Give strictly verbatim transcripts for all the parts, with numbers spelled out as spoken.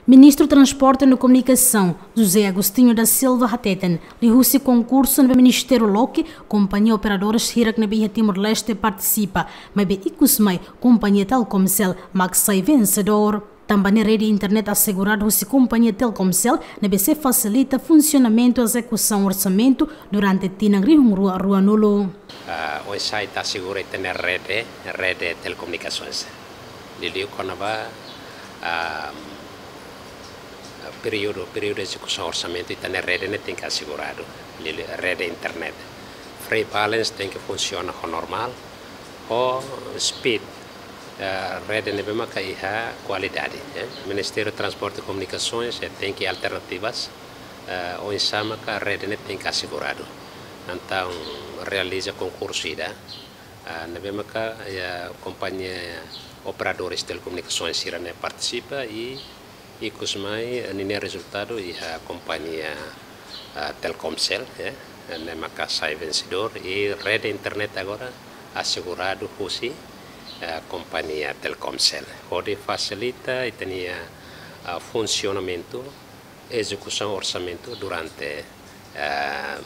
Ministru Transporte no Komunikasaun, José Agostinho da Silva hateten, liuhusi konkursu ne'ebé ministériu loke, kompañia operadores hirak ne'ebé iha Timor-Leste partisipa, maibé ikus mai kompañia Telkomcel mak sai vensedór. Tanba ne'e rede internet aseguradu husi kompañia Telkomcel ne'ebé sei fasilita funsionamentu ezekusaun orsamentu durante tinan rihun rua ruanulu. Ah, oinsá ita asegura ita-nia rede, rede telekomunikasoens. Liuliu kona-ba, ah, períodu, períodu ezekusaun orsamentu ita-nia rede ne'e tenke aseguradu. Liuliu rede internet. Free balance tenke funsiona ho normál, ho speed, eh, rede ne'ebé maka iha kualidade, eh. Ministériu Transporte e Komunikasoens, eh, tenke alternativas, eh, oinsá maka rede ne'e tenke aseguradu. Entaun realiza konkursu ida, eh, ne'ebé maka, eh, kompañia operadores telekomunikasoens sira-ne'e partisipa i ikus mai, eh, ninia rezultadu iha kompañia, ah, Telkomcel, eh, ne'e maka sai vensedór i rede internet agora aseguradu husi, eh, kompañia Telkomcel. Hodi fasilita ita-nia, ah, funsionamentu, ezekusaun orsamentu durante, eh,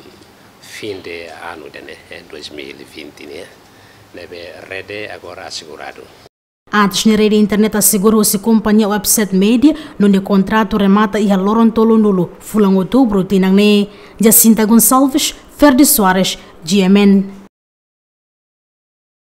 fin de anu ida-ne'e, eh, dois mil e vinte ne'e, ne'ebé rede agora aseguradu. Antes ne'e rede internet asegura husi kompañia Webset Media, no nia kontratu remata iha loron tolunulu fulan Outubru tinan ne'e. Jacinta Gonçalves, Ferdi Soares, G M N.